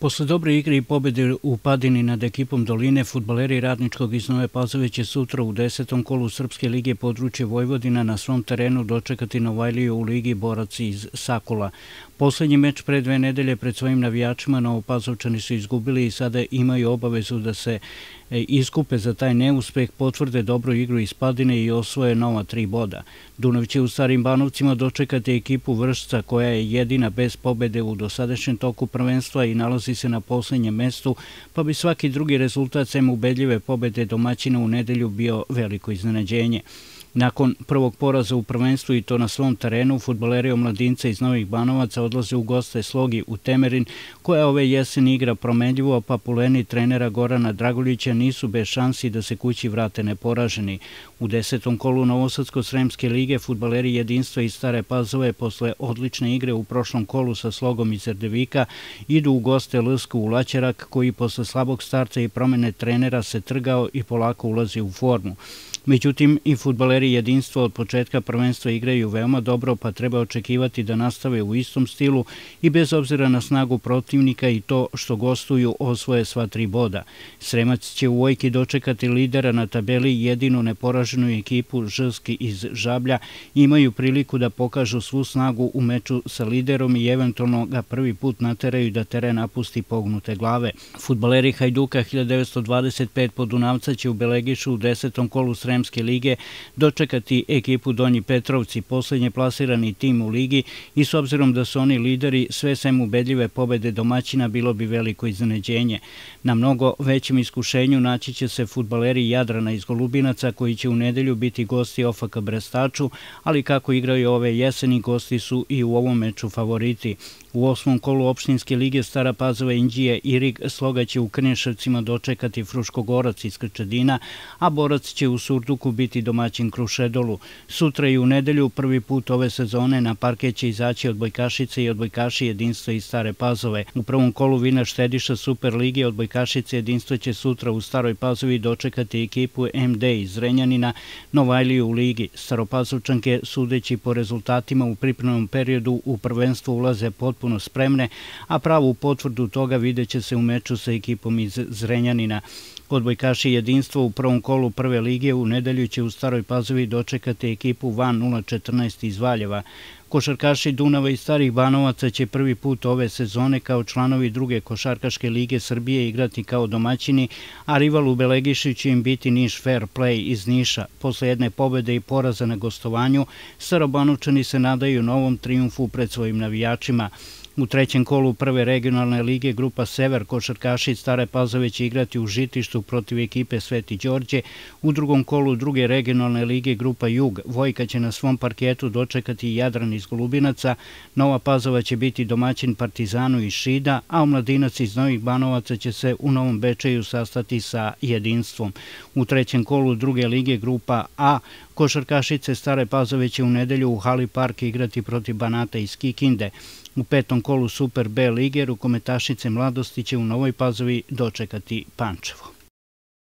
Posle dobre igre i pobede u Padini nad ekipom Doline, fudbaleri Radničkog iz Nove Pazove će sutra u 10. kolu Srpske lige područje Vojvodina na svom terenu dočekati Novajliju u Ligi borac iz Sakula. Poslednji meč pre 2 nedelje pred svojim navijačima Novopazovčani su izgubili i sada imaju obavezu da se iskupe za taj neuspeh, potvrde dobru igru iz Padine i osvoje nova 3 boda. Dunav će u Starim Banovcima dočekati ekipu Vršca koja je jedina bez pobede u dosadašnjem toku prvenstva i nalazi se na poslednjem mestu, pa bi svaki drugi rezultat sem ubedljive pobede domaćina u nedelju bio veliko iznenađenje. Nakon prvog poraza u prvenstvu i to na svom terenu, fudbaleri omladinca iz Novih Banovaca odlaze u goste Slogi u Temerin, koja ove jeseni igra promenljivo, pa puleni trenera Gorana Draguljića nisu bez šansi da se kući vrate neporaženi. U 10. kolu Novosadsko-Sremske lige fudbaleri Jedinstva iz Stare Pazove posle odlične igre u prošlom kolu sa Slogom iz Erdevika idu u goste LSK u Laćerak, koji posle slabog starta i promene trenera se trgao i polako ulazi u formu. Međutim, i fudbaleri Jedinstva od početka prvenstva igraju veoma dobro, pa treba očekivati da nastave u istom stilu i bez obzira na snagu protivnika i to što gostuju osvoje sva 3 boda. Sremac će u Vojki dočekati lidera na tabeli, jedinu neporaženu ekipu Žski iz Žablja, imaju priliku da pokažu svu snagu u meču sa liderom i eventualno ga prvi put nateraju da teren napusti pognute glave. Fudbaleri Hajduka 1925 Podunavca će u Belegišu u 10. kolu Sremske lige dočekati ekipu Donji Petrovci, poslednje plasirani tim u ligi, i s obzirom da su oni lideri, sve sem ubedljive pobede domaćina bilo bi veliko iznenađenje. Na mnogo većem iskušenju naći će se fudbaleri Jadrana iz Golubinaca, koji će u nedelju biti gosti OFK Brestaču, ali kako igraju ove jeseni, gosti su i u ovom meču favoriti. U 8. kolu opštinske lige Stara Pazova, Inđija i Rig Sloga će u Krnješevcima dočekati Fruškogorac iz Krčedina, a Borac će u Surduku biti domaćin Krušedolu. Sutra i u nedelju prvi put ove sezone na parket će izaći odbojkašice i odbojkaši Jedinstva iz Stare Pazove. U prvom kolu Vina štediša Super lige odbojkašice Jedinstva će sutra u Staroj Pazovi dočekati ekipu MD iz Zrenjanina, Novajliju u ligi. Staropazovčanke, sudeći po rezultatima u pripremnom periodu, u prvenstvo ulaze potpuno spremne, a pravu potvrdu toga videće se u meču sa ekipom iz Zrenjanina. Odbojkaši Jedinstva u prvom kolu prve lige u nedelju će u Staroj Pazovi dočekati ekipu Van 014 iz Valjeva. Košarkaši Dunava i Starih Banovaca će prvi put ove sezone kao članovi druge košarkaške lige Srbije igrati kao domaćini, a rival u Belegiši će im biti Niš Fair Play iz Niša. Posle jedne pobede i poraza na gostovanju, Starobanovčani se nadaju novom trijumfu pred svojim navijačima. U 3. kolu prve regionalne lige grupa Sever košarkaši Stare Pazove će igrati u Žitištu protiv ekipe Sveti Đorđe. U 2. kolu druge regionalne lige grupa Jug Vojka će na svom parketu dočekati Jadran iz Golubinaca, Nova Pazova će biti domaćin Partizanu iz Šida, a Omladinac iz Novih Banovaca će se u Novom Bečeju sastati sa Jedinstvom. U 3. kolu druge lige grupa A košarkašice Stare Pazove će u nedelju u Hali Park igrati protiv Banata iz Kikinde. U 5. kolu Super B lige rukometašice Mladosti će u Novoj Pazovi dočekati Pančevo.